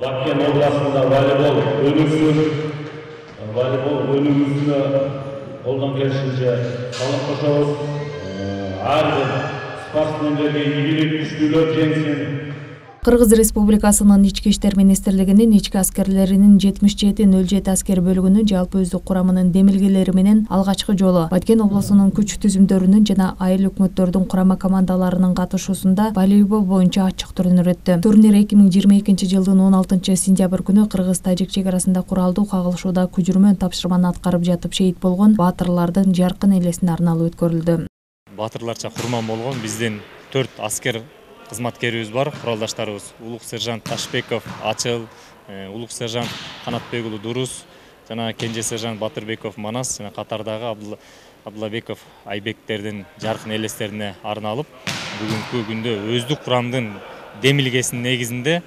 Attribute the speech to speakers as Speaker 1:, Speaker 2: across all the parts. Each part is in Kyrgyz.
Speaker 1: Баткен областында волейбол өнүгүүсүнө колдон келишинче салым кошобуз. Ар бир спортсмендерге ийгилик, күчтүүлөр жеңсин.
Speaker 2: Кыргыз Республикасынын Ички иштер министрлигинин ички аскерлеринин 77-07 аскер бөлүгүнүн жалпы өздүк курамынын демилгелери менен алгачкы жолу Баткен облусунун күч түзүмдөрүнүн жана айыл өкмөттөрдүн курама командаларынын катышуусунда волейбол боюнча ачык турнир өттү. Турнир 2022 жылдын 16 сентябрь күнү Кыргыз-Тажик чек арасында куралдуу кагылышууда күжүрмөн тапшырманы аткарып жатып шейит болгон баатырлардын жаркын элесине арналып өткөрүлдү.
Speaker 3: Баатырларча курман болгон биздин 4 аскер кызматкерибиз бар, куралдаштарыбыз. Улук сержант Ташбеков Ачыл, улук сержант Канатбек уулу Дурус, жана кенже сержант Батырбеков Манас, жана катардагы Абдуллабеков Айбектердин жаркын элестерине арналып, бүгүнкү күндө өздүк курамдын демилгесинин негизинде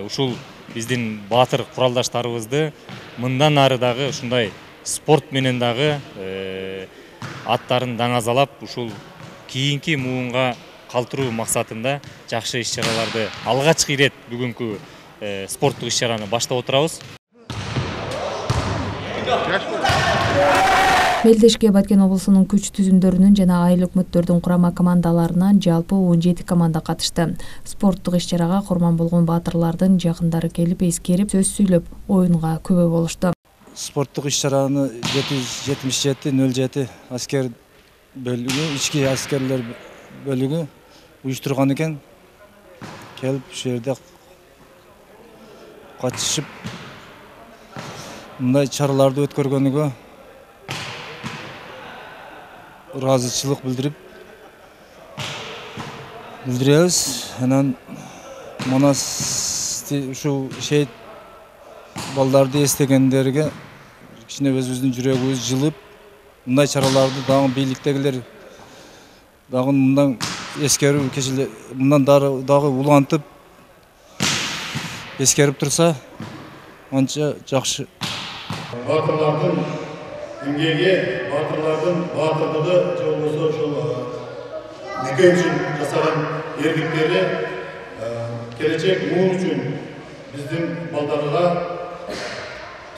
Speaker 3: ушул биздин баатыр куралдаштарыбызды мындан ары дагы ушундай спорт менен дагы аттарын даңазалап, ушул кийинки муунга калтыруу максатында жакшы иш-чараларды алгачкы ирет бүгүнкү спорттук иш-чараны баштап отурабыз.
Speaker 2: Мелдешке Баткен облусунун күч түзүмдөрүнүн жана айыл өкмөттөрдүн курама командаларынан жалпы 17 команда катышты. Спорттук иш-чарага курман болгон баатырлардын жакындары келип, эскерип, сөз сүйлөп, оюнга күбө болушту.
Speaker 4: Спорттук иш-чараны 777-07 аскер бөлүгү, ички аскерлер бөлүгү уюштурган экен. Келип ушул жерде катышып, мындай чараларды өткөргөнүгө ыраазычылык билдиребиз. Анан Манасты ушул шейит балдарды эстегендерге кичине өзүбүздүн жүрөгүбүз жылып, мындай чараларды дагы бийликтегилер дагы мындан эскерип кечиле мындан дагы улантып эскерип турса анча жакшы.
Speaker 1: Баатырлардын эмгеги, баатырлардын баатырлыгы же болбосо ошол үлкен үчүн жасаган эркиктери келечек муун үчүн биздин балдарга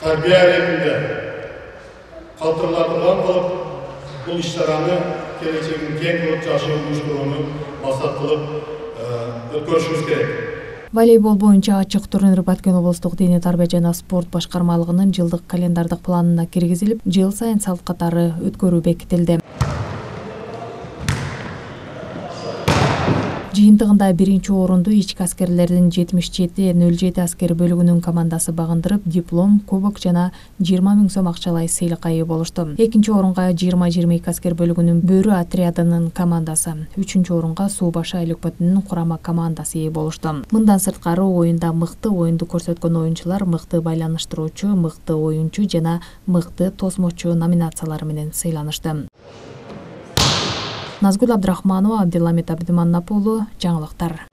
Speaker 1: тарбия ретинде калтырылатылган кылып, бул иш-чараны келечегин кең кылып жашоо уюштурууну максат кылып өткөрүшүбүз керек.
Speaker 2: Волейбол боюнча ачык турнир Баткен облустук дене тарбия жана спорт башкармалыгынын жылдык календардык планына киргизилип, жыл сайын салт катары өткөрүү бекитилди. Жыйынтыгында биринчи орунду ички аскерлердин 77-07 аскер бөлүгүнүн командасы багындырып, диплом, кубок жана 20 000 сом акчалай сыйлыкка ээ болушту. Экинчи орунга 20-22 аскер бөлүгүнүн бөрү отрядынын командасы, үчүнчү орунга Суу башы айыл өкмөтүнүн курама командасы ээ болушту. Мындан сырткары оюнда мыкты оюнду көрсөткөн оюнчулар мыкты байланыштыруучу, мыкты оюнчу жана мыкты тосмочу номинациялары менен сыйланышты. Назгүл Абдрахманова, Абдилламит Абдиманнап уулу, жаңылыктар.